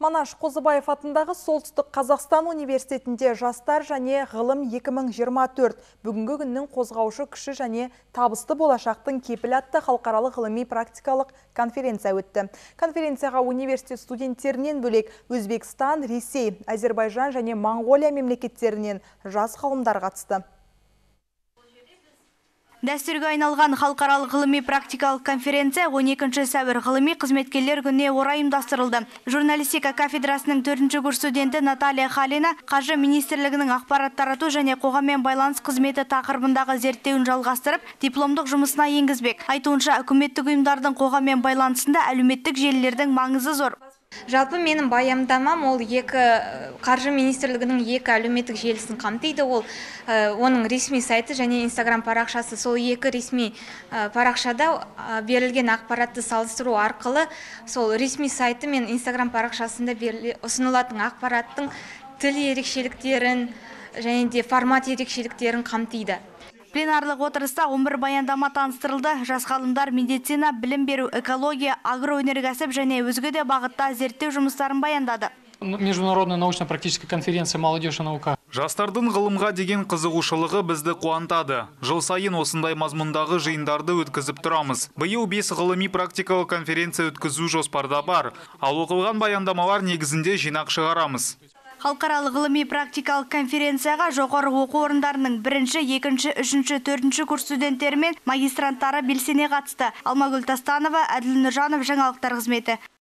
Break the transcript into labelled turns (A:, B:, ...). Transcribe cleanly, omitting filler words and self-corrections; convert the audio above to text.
A: Манаш Қозыбаев атындағы Солтүстік Қазақстан университетінде жастар және ғылым 2024 бүгінгі күннің қозғаушы күші және табысты болашақтың кепілі атты халықаралық ғылыми практикалық конференция өтті. Конференцияға университет студенттерінен бөлек Өзбекстан, Ресей, Әзербайжан және Моңғолия мемлекеттерінен жас ғалымдар қатысты.
B: Дәстүрге айналған халықаралық ғылыми практикалық конференция 12 сәуір ғылыми қызметкерлер күніне орай ұйымдастырылды. Журналистика кафедрасының 4-ші курс студенті Наталья Халина Қаржы министрлігінің ақпарат тарату және қоғаммен байланыс қызметі тақырыбындағы зерттеуін жалғастырып, дипломдық жұмысына енгізбек. Айтуынша, үкіметтік ұйымдардың қоғаммен байланысында әлеуметтік желілердің маңызы зор.
C: Жалпы менің баяндамам ол Қаржы министрлігінің екі әлеуметтік желісін қамтиды. Оның ресми сайты және Инстаграм парақшасы. Сол екі ресми парақшада берілген ақпаратты салыстыру арқылы сол ресми сайты мен Инстаграм парақшасында ұсынылатын ақпараттың тіл ерекшеліктерін және де формат ерекшеліктерін қамтиды.
B: Пленарлық отырыста 11 баяндама таныстырылды. Жас ғалымдар медицина, білім беру, экология, агроөнеркәсіп және өзге де бағытта зерттеу жұмыстарын баяндады.
D: Международная научно-практическая конференция «Молодежь и наука».
E: Жастардың ғылымға деген қызығушылығы бізді қуантады. Жыл сайын осындай мазмұндағы жиындарды өткізіп тұрамыз. Биыл 5 ғылыми практикалық конференция өткізу жоспарда бар. Ал оқылған баяндамалар негізінде жинақ шығарамыз.
B: Халықаралық ғылыми практикалық конференцияға жоғары оқу орындарының 1-ші, 2-ші, 3-ші, 4-ші курс студенттері мен магистранттары белсене қатысты. Алмагүл Тастанова, Әділ Нұржанов, жаңалықтар қызметі.